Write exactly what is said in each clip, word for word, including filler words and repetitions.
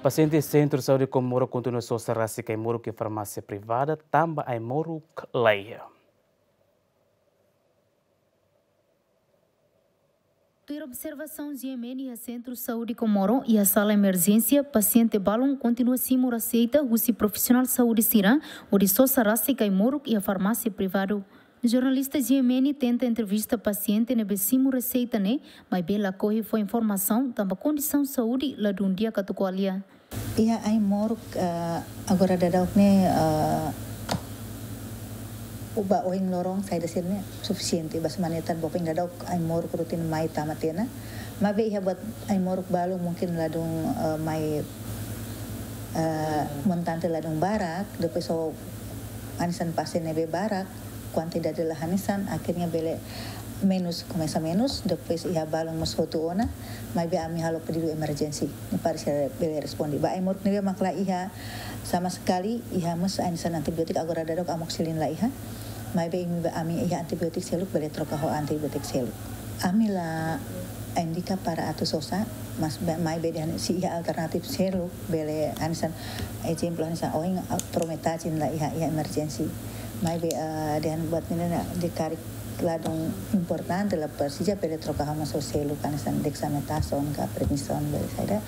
Pasiente Sentru Saúde Comoro kontinua sosa rasik ai-moruk iha farmásia privada tanba ai-moruk laiha. Tuir observasaun GMN iha Sentru Saúde Comoro, iha sala emerjénsia, pasiente balun kontinua simu reseita husi profisionál saúde sira hodi sosa rasik ai-moruk iha farmásia privadu. Jornalista GMN tenta entrevista pasiente ne'ebé simu reseita ne'e, maibé lakohi fó informasaun tanba kondisaun saúde ladún di'ak atu ko'alia. Iha ai-moruk, eh, agora daudauk ne'e, eh, ba ohin loron saida sira-ne'e sufisiente, ba semana ida-ne'e ba ohin daudauk ai-moruk rutin mai tama tiha ona. Maibé iha buat ai-moruk balu mungkin ladún, eh, mai, eh, montante ladún barak, depois ho hanesan pasiente ne'ebé barak, kuantidade la hanesan, akhirnya bele menus, komesa menus, depois iha balun mós hotu ona, maibé ami halo pedidu emerjénsia, ne'e para sira bele responde. Ba ai-moruk ne'ebé mak la iha sama sekali, iha mós hanesan antibiotik, agora daudauk amoxicilin la iha, maibé imi ba ami iha antibiotik seluk, bele troka ho antibiotik seluk. Ami la indika para atu sosa, mas be-, maibé dehan se iha alternatif seluk, bele hanesan, ezemplu hanesan ohin, ah, prometaxin la iha, iha emerjénsia. Maibé, eh, dehan buat ne'e ne'e karik ladún importante la presiza bele troka ho mós seluk hanesan dexametazon ka prednison bele saida.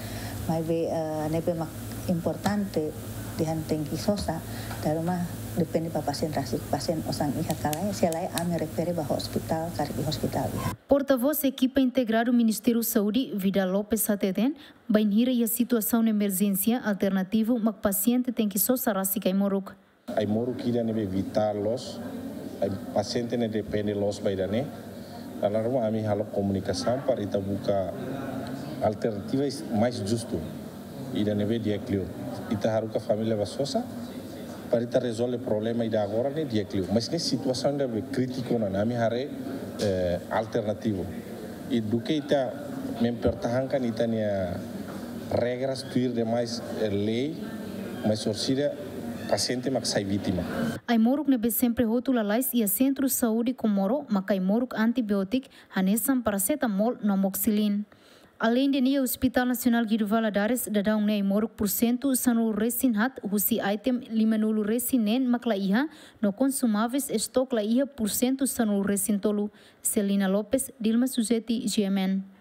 Maibé, eh, ne'ebé mak importante dehan tenke sosa, dala ruma depende ba pasiente rasik, pasiente osan iha ka lae, se lae ami refere ba ospitál, karik iha ospitál iha. Portavós ekipa integradu Ministériu Saúde, Vidal Lopes hateten, bainhira iha situasaun emerjénsia, alternativu mak pasiente tenke sosa rasik ai-moruk. Ai-moruk ida ne'ebé vitál loos, ai pasiente ne'e depende loos ba ida-ne'e. Dala ruma ami halo komunikasaun para ita buka alternativa mais justu. Ida ne'ebé di'ak liu. Ita haruka família ba sosa, para ita rezolve problema ida agora ne'e di'ak liu. Mas ne'e situasaun ida ne'ebé krítiku ona, ami haree, eh, alternativu. I duké ita mempertahankan ita-nia regras tuir demais, eh, lei, mas orsida pasiente mak sai vítima. Ai-moruk ne'ebé sempre hotu lalais iha Sentru Saúde Comoro, mak ai-moruk antibiotik, hanesan paracetamol no amoxicilin. Aleinde ne'e, Hospital Nasionál Guido Valadares daudaun ne'e ai-moruk pursentu sanulu resin haat, husi item lima-nulu resin neen mak la iha, no konsumáveis estok la iha pursentu sanulu resin tolu. Celina Lopes, Dilma Suzeti, GMN.